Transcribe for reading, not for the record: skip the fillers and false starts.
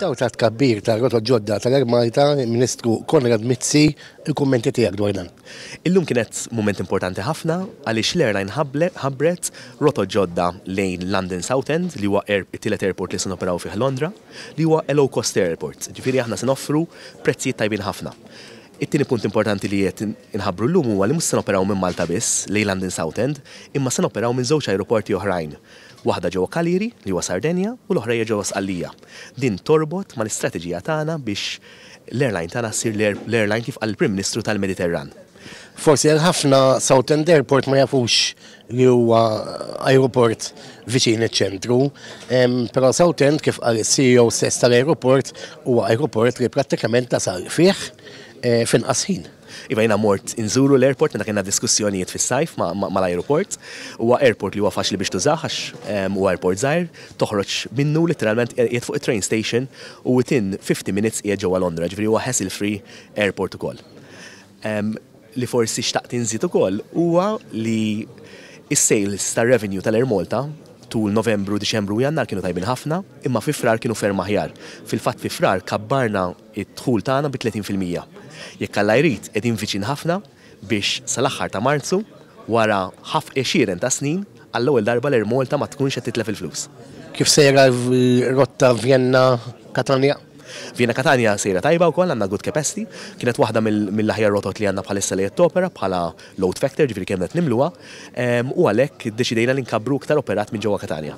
Fid-dawl tat-tkabbir tar-rotot ġodda tal-Air Malta, il-Ministru Konrad Mizzi, il-kummenti tiegħek dwar dan. Illum kienet mument importanti ħafna għaliex l-airline ħabbret rotot ġodda lejn London Southend li huwa it-tielet airport li se noperaw fih Londra, li huwa a low cost airport. Ġifieri aħna se noffru prezzijiet tajbin ħafna. It-tieni punt importanti li qed inħabbru llum huwa li mhux se noperaw minn Malta biss lejn London Southend, imma se noperaw minn żewġ ajruporti oħrajn. Waħda ġewwa Cagliari, li huwa Sardenja, u l-oħra hija ġewwa Sqallija. Din torbot mal-istrateġija tagħna biex l-airline tagħna ssir l-airline kif qal il-Prim Ministru tal-Mediterran. Forsi għal ħafna Southend Airport ma jafux li huwa ajruport viċin iċ-ċentru, però Southend kif qal is-CEO stess tal-ajruport huwa ajruport li prattikament tasal fih f'inqas ħin. Iva, jiena mort inżuru l-airport meta kellna diskussjonijiet fis-sajf mal-ajruport. Huwa airport li huwa faċli biex tużah għax huwa airport żgħir, toħroġ minnu litteralment qiegħed fuq it-train station u within 50 minutes qiegħed ġewwa Londra, ġifieri huwa hassle free airport ukoll. Li forsi xtaqt inżid ukoll huwa li s-sales tar-revenue tal-Air Malta tul Novembru, Diċembru u Jannar kienu tajbin ħafna, imma fi Frar kienu ferm aħjar. Fil-fatt fi Frar kabbarna d-dħul tagħna bi 30%. Jekk Alla jrid, qegħdin viċin ħafna biex sal-aħħar ta' Marzu, wara ħaf għexieren ta' snin, għall-ewwel darba l-Air Malta ma tkunx qed titlef il-flus. Kif sejra r-rotta Vienna-Katanja? Vienna-Katanja sejra tajba wkoll, għandna good capacity. Kienet waħda mill-aħjar rotot li għandna bħalissa li qed topera bħala load factor, ġifieri kemm qed nimluha, u għalhekk iddeċidejna li nkabbru iktar operat minn ġewwa Katanja.